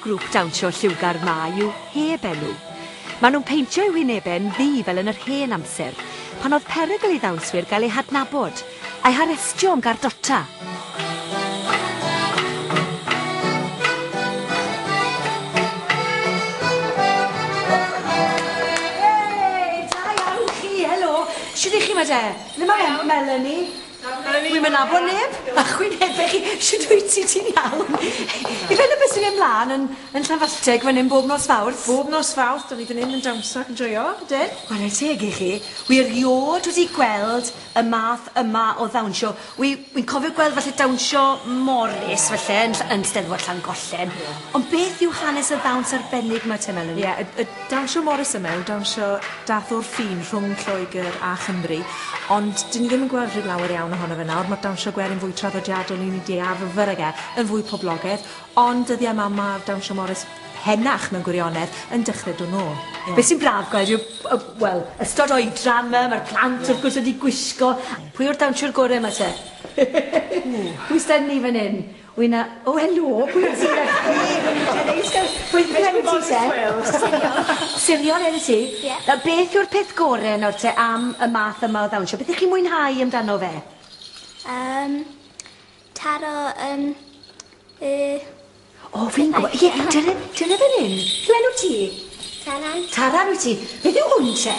grŵp dawnsio lliwgar 'ma yw Heb Enw. Maen nhw'n peintio eu hwynebau'n ddu fel yn yr hen amser, pan oedd perygl i ddawnswyr gael eu hadnabod, a'u harestio am gardota. Hey, da iawn chi, helo. Shwt 'ych chi 'ma de? Le mae Melanie? Wi'm yn nabod neb, a chwynebe chi, shwt wyt ti, ti'n iawn? Ife 'na beth sy'n mynd mlan yn yn Llanfallteg fan 'yn bob nos Fawrth? Bob nos Fawrth, 'dan ni fan 'yn yn dawnsio ac yn joio, ydyn? Ware teg i chi, wi eriôd wedi gweld y math yma o ddawnsio. Wi wi'n cofio gweld falle dawnsio Morris falle yn Ll- yn Steddfod Llangollen. Ond beth yw hanes y ddawns arbennig 'ma te Melanie? Ie, y y dawnsio Morris yma yw dawnsio dath o'r ffin rhwng Lloegr a Chymru, ond 'dyn ni ddim yn gweld rhyw lawer iawn ohono fe nawr, ma'r dawnsio gwerin fwy traddodiadol ni'n 'di arfer ag e, yn fwy poblogaidd, ond dyddiau 'ma ma'r dawnsio Morris henach mewn gwirionedd yn dechrau dod nôl. Ie. Be' sy'n braf gweld yw y wel, ystod oedran 'ma, ma'r plant wrth gwrs wedi gwisgo. Pwy yw'r dawnsiwr gore 'ma te? Pwy s'da ni fan 'yn? Wi 'na... O helo, pwy wyt ti felly? Neis gweld... Pwy pwy enw ti te? Siriol. Siriol enw ti? Ie. Nawr beth yw'r peth gore nawr te am y math yma o ddawnsio? Beth 'ych chi'n mwynhau amdano fe? Yym taro yym y... O fi'n gwbo ie dyna dyna fan 'yn. Beth yw enw ti? Taran. Taran wyt ti. Beth yw hwn te?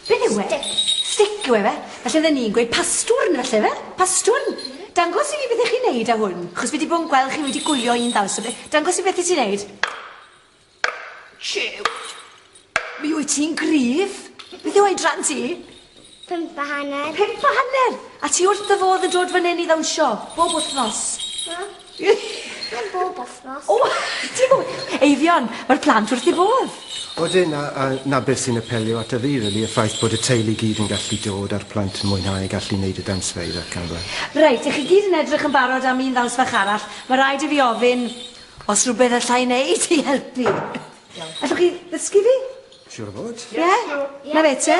Beth yw e? Stick. Stick yw e fe? Falle fydden ni'n gweud pastwrn falle fe? Pastwrn. Dangos i fi beth 'ych chi'n neud â hwn. Achos fi 'di bod yn gweld chi wedi gwylio un ddawns o be- dangos i beth wyt ti'n neud. Jiw! Mi wyt ti'n gryf. Beth yw oedran ti? 5 a hanner. 5 a hanner! A ti wrth dy fodd yn dod fan 'yn i ddawnsio? Bob wythnos? Na. Ddim bob wythnos. O! Ti'n gwbo- Eifion, ma'r plant wrth 'u bodd. Odyn, a 'na beth sy'n apelio ato fi rili, y ffaith bod y teulu gyd yn gallu dod a'r plant yn mwynhau gallu neud y dawnsfeydd ac yn y blaen. Reit, 'ych chi gyd yn edrych yn barod am un ddawns fach arall. Ma' raid i fi ofyn os rhywbeth allai neud i helpu. Allwch chi ddysgu fi? Siŵr o fod. Ie? 'Na fe te.